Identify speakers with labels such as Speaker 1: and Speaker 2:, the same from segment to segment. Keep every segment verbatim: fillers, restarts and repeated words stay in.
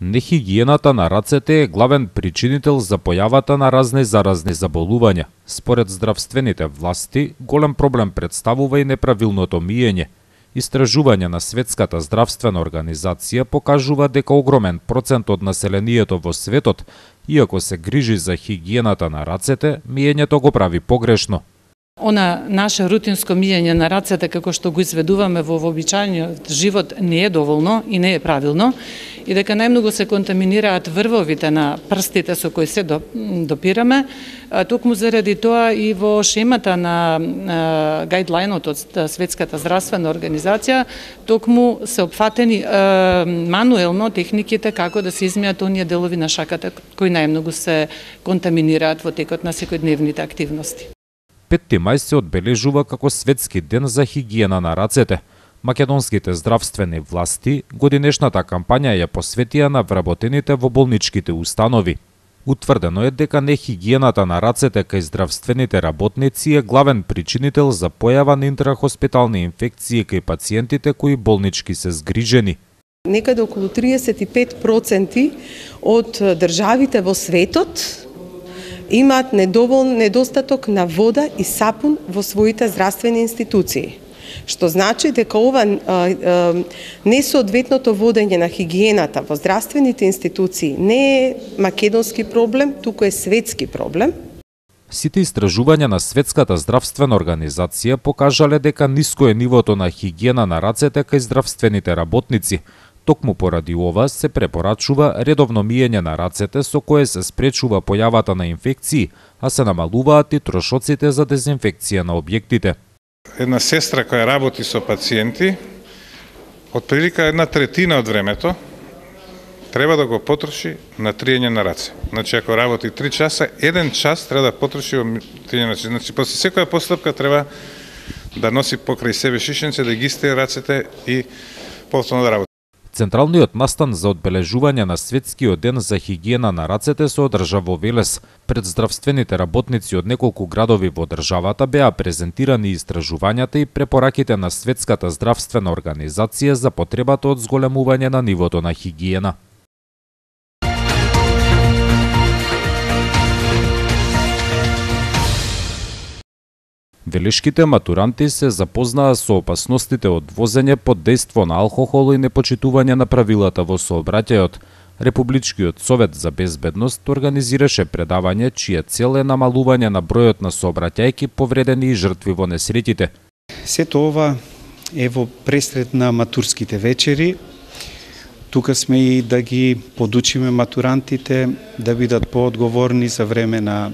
Speaker 1: Нехигиената на рацете е главен причинител за појавата на разни заразни заболувања. Според здравствените власти, голем проблем представува и неправилното миење. Истражување на Светската здравствена организација покажува дека огромен процент од населението во светот, иако се грижи за хигиената на рацете, миењето го прави погрешно.
Speaker 2: Она наше рутинско миење на рацете, како што го изведуваме во вообичаениот живот, не е доволно и не е правилно, и дека најмногу се контаминираат врвовите на прстите со кои се допираме, токму заради тоа и во шемата на гајдлајнот од Светската здравствена организација, токму се опфатени мануелно техниките како да се измијат оние делови на шаката кои најмногу се контаминираат во текот на секојдневните активности.
Speaker 1: петти мај се одбележува како Светски ден за хигиена на рацете. Македонските здравствени власти годинешната кампања ја посветија на вработените во болничките установи. Утврдено е дека нехигиената на рацете кај здравствените работници е главен причинител за појава на интрахоспитални инфекции кај пациентите кои болнички се згрижени.
Speaker 3: Некаде околу триесет и пет проценти од државите во светот имаат недоволен недостаток на вода и сапун во своите здравствени институции. Што значи дека ова несоодветното водење на хигиената во здравствените институции не е македонски проблем, туку е светски проблем.
Speaker 1: Сите истражувања на Светската здравствена организација покажале дека ниско е нивото на хигиена на рацете кај здравствените работници. Токму поради ова се препорачува редовно миење на рацете со кое се спречува појавата на инфекции, а се намалуваат и трошоците за дезинфекција на објектите.
Speaker 4: Една сестра која работи со пациенти, од прилика една третина од времето треба да го потроши на триење на раце. Значи, ако работи три часа, еден час треба да потроши во триење на раце. Значи, после секоја постапка треба да носи покрај себе шишенце, да ги стие рацете и повторно да работи.
Speaker 1: Централниот настан за одбележување на Светскиот ден за хигиена на рацете се одржа во Велес. Пред здравствените работници од неколку градови во државата беа презентирани истражувањата и препораките на Светската здравствена организација за потребата од зголемување на нивото на хигиена. Велешките матуранти се запознаа со опасностите од возење под дејство на алкохол и непочитување на правилата во сообраќајот. Републичкиот совет за безбедност организираше предавање чија цел е намалување на бројот на сообраќајки повредени и жртви во несреќите.
Speaker 5: Сето ова е во пресред на матурските вечери. Тука сме и да ги подучиме матурантите да бидат поодговорни за време на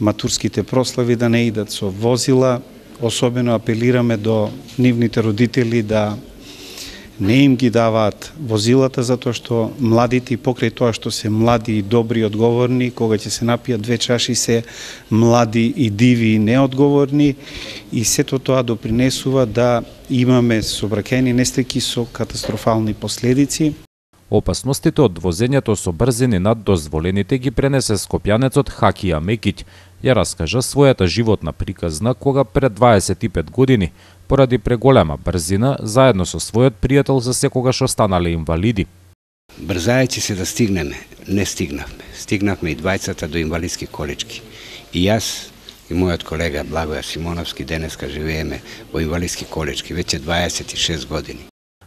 Speaker 5: матурските прослави, да не идат со возила. Особено апелираме до нивните родители да не им ги даваат возилата, затоа што младите, и покрај тоа што се млади и добри и одговорни, кога ќе се напијат две чаши, се млади и диви и неодговорни, и сето тоа допринесува да имаме сообраќајни несреќи со катастрофални последици.
Speaker 1: Опасностите од возењето со брзини над дозволените ги пренесе скопјанецот Хакија Мекиќ. Ја раскажа својата животна приказна кога пред дваесет и пет години, поради преголема брзина, заедно со својот пријател за секогаш останале инвалиди.
Speaker 6: Брзајќи се да стигнеме, не стигнавме. Стигнавме и двајцата до инвалидски колички. И јас и мојот колега Благоја Симоновски денеска живееме во инвалидски колички веќе дваесет и шест години.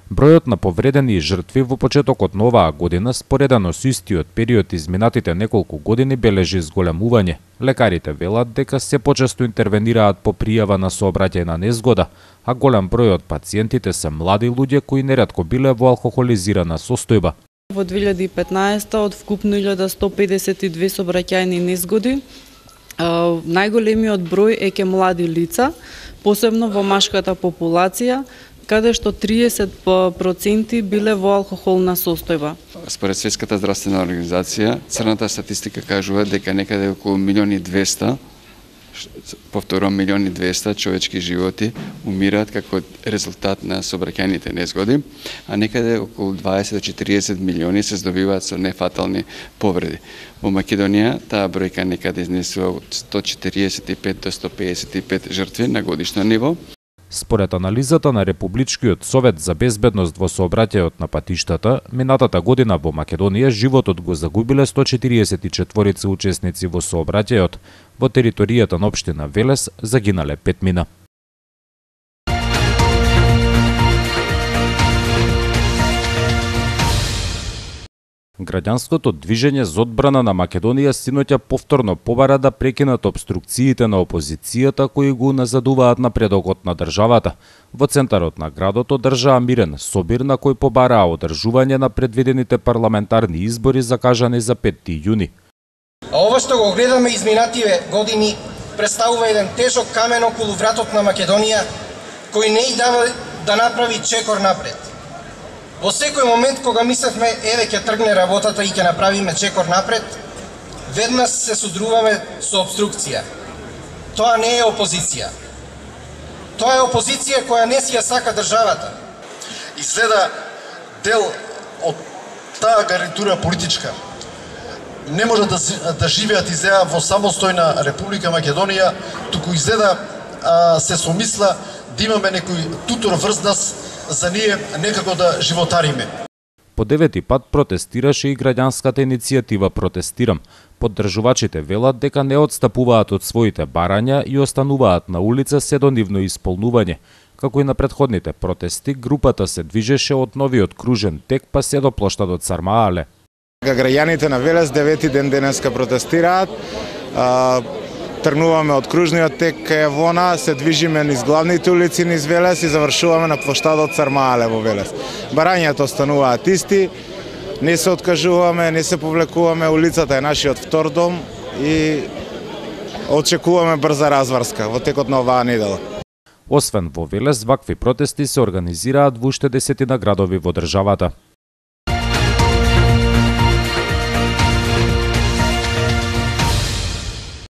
Speaker 1: Бројот на повредени и жртви во почетокот на оваа година, споредено со истиот период изминатите неколку години, бележи зголемување. Лекарите велат дека се почесто интервенираат по пријава на сообраќајна незгода, а голем број од пациентите се млади луѓе кои неретко биле во алкохолизирана состојба.
Speaker 7: Во две илјади и петнаесетта од вкупно илјада сто педесет и две сообраќајни незгоди, најголемиот број е ке млади лица, посебно во машката популација, каде што триесет проценти биле во алкохолна состојба.
Speaker 8: Според Светската здравствена организација, црната статистика кажува дека некаде околу милион и двесте, повторувам милион и двесте човечки животи умираат како резултат на сообраќајните незгоди, а некаде околу дваесет до четириесет милиони се здобиваат со нефатални повреди. Во Македонија таа бројка некаде изнесува од сто четириесет и пет до сто педесет и пет жртви на годишно ниво.
Speaker 1: Според анализата на Републичкиот совет за безбедност во сообраќајот на патиштата, минатата година во Македонија животот го загубиле сто четириесет и четири учесници во сообраќајот, во територијата на општина Велес загинале петмина. Граѓанското движење за одбрана на Македонија синоќа повторно побара да прекинат обструкциите на опозицијата кои го назадуваат напредокот на државата. Во центарот на градот одржаа мирен собир на кој побараа одржување на предвидените парламентарни избори закажани за петти јуни.
Speaker 9: А ова што го гледаме изминативе години представува еден тежок камен околу вратот на Македонија кој не и дава да направи чекор напред. Во секој момент кога мислевме еве ќе тргне работата и ќе направиме чекор напред, веднаш се судруваме со обструкција. Тоа не е опозиција. Тоа е опозиција која не си ја сака државата.
Speaker 10: Изгледа дел од таа гарнитура политичка не може да, да живеат изгледа во самостојна Република Македонија, туку изгледа а, се somисла да имаме некој тутор врз нас за ние некако да животариме.
Speaker 1: По девети пат протестираше и граѓанската иницијатива Протестирам. Поддржувачите велат дека не отстапуваат од своите барања и остануваат на улица се до нивно исполнување. Како и на претходните протести, групата се движеше од новиот кружен тек па се до плоштадот Сармаале.
Speaker 11: Граѓаните на Велес девети ден денеска протестираат. Тргнуваме од кружниот тек кај Евона, се движиме низ главните улици низ Велес и завршуваме на плоштадот Сармаале во Велес. Барањата остануваат исти, не се откажуваме, не се повлекуваме, улицата е нашиот втор дом и очекуваме брза разврска во текот на оваа недела.
Speaker 1: Освен во Велес, вакви протести се организираат во уште десетина градови во државата.